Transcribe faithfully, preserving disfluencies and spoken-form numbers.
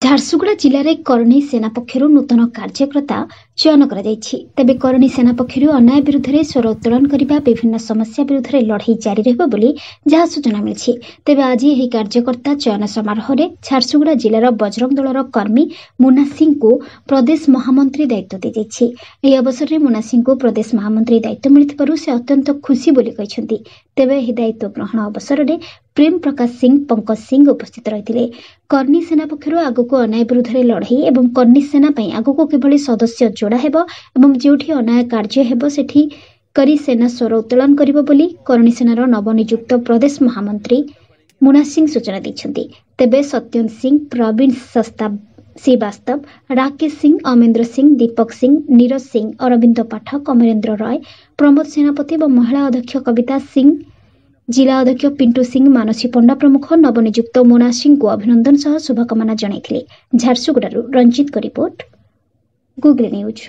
ଝାରସୁଗୁଡ଼ା ଜିଲ୍ଲାରେ କରଣୀ ସେନା ପକ୍ଷରୁ ନୂତନ କାର୍ଯ୍ୟକର୍ତ୍ତା ଚୟନ କରାଯାଇଛି। ତେବେ କରଣୀ ସେନା ପକ୍ଷରୁ ଅନ୍ୟାୟ ବିରୁଦ୍ଧରେ ସ୍ୱର ଉତ୍ତୋଳନ କରିବା, ବିଭିନ୍ନ ସମସ୍ୟା ବିରୁଦ୍ଧରେ ଲଢ଼େଇ ଜାରି ରହିବ ବୋଲି ଯାହା ସୂଚନା ମିଳିଛି। ତେବେ ଆଜି ଏହି କାର୍ଯ୍ୟକର୍ତ୍ତା ଚୟନ ସମାରୋହରେ ଝାରସୁଗୁଡ଼ା ଜିଲ୍ଲାର ବଜରଙ୍ଗ ଦଳର କର୍ମୀ ମୁନା ସିଂଙ୍କୁ ପ୍ରଦେଶ ମହାମନ୍ତ୍ରୀ ଦାୟିତ୍ୱ ଦିଆଯାଇଛି। ଏହି ଅବସରରେ ମୁନା ସିଂଙ୍କୁ ପ୍ରଦେଶ ମହାମନ୍ତ୍ରୀ ଦାୟିତ୍ୱ ମିଳିଥିବାରୁ ସେ ଅତ୍ୟନ୍ତ ଖୁସି ବୋଲି କହିଛନ୍ତି। ତେବେ ଏହି ଦାୟିତ୍ୱ ଗ୍ରହଣ ଅବସରରେ ପ୍ରେମ ପ୍ରକାଶ ସିଂ, ପଙ୍କଜ ସିଂ ଉପସ୍ଥିତ ରହିଥିଲେ। କର୍ଣ୍ଣୀ ସେନା ପକ୍ଷରୁ ଆଗକୁ ଅନ୍ୟାୟ ବିରୁଦ୍ଧରେ ଲଢ଼େଇ ଏବଂ କର୍ଣ୍ଣୀ ସେନା ପାଇଁ ଆଗକୁ କିଭଳି ସଦସ୍ୟ ଯୋଡ଼ା ହେବ ଏବଂ ଯେଉଁଠି ଅନ୍ୟାୟ କାର୍ଯ୍ୟ ହେବ ସେଠି କରି ସେନା ସ୍ୱର ଉତ୍ତୋଳନ କରିବ ବୋଲି କରଣୀ ସେନାର ନବନିଯୁକ୍ତ ପ୍ରଦେଶ ମହାମନ୍ତ୍ରୀ ମୁନା ସିଂ ସୂଚନା ଦେଇଛନ୍ତି। ତେବେ ସତ୍ୟନ ସିଂ, ପ୍ରବୀଣ ଶସ୍ତା ଶ୍ରୀବାସ୍ତବ, ରାକେଶ ସିଂ, ଅମେନ୍ଦ୍ର ସିଂ, ଦୀପକ ସିଂ, ନୀରଜ ସିଂ, ଅରବିନ୍ଦ ପାଠକ, ଅମରେନ୍ଦ୍ର ରାୟ, ପ୍ରମୋଦ ସେନାପତି ଏବଂ ମହିଳା ଅଧ୍ୟକ୍ଷ କବିତା ସିଂ, ଜିଲ୍ଲା ଅଧ୍ୟକ୍ଷ ପିଣ୍ଟୁ ସିଂ, ମାନସୀ ପଣ୍ଡା ପ୍ରମୁଖ ନବନିଯୁକ୍ତ ମୋନା ସିଂଙ୍କୁ ଅଭିନନ୍ଦନ ସହ ଶୁଭକାମନା ଜଣାଇଥିଲେ। ଝାରସୁଗୁଡ଼ାରୁ ରଞ୍ଜିତଙ୍କ ରିପୋର୍ଟ, ଗୁଗଲ ନ୍ୟୁଜ୍।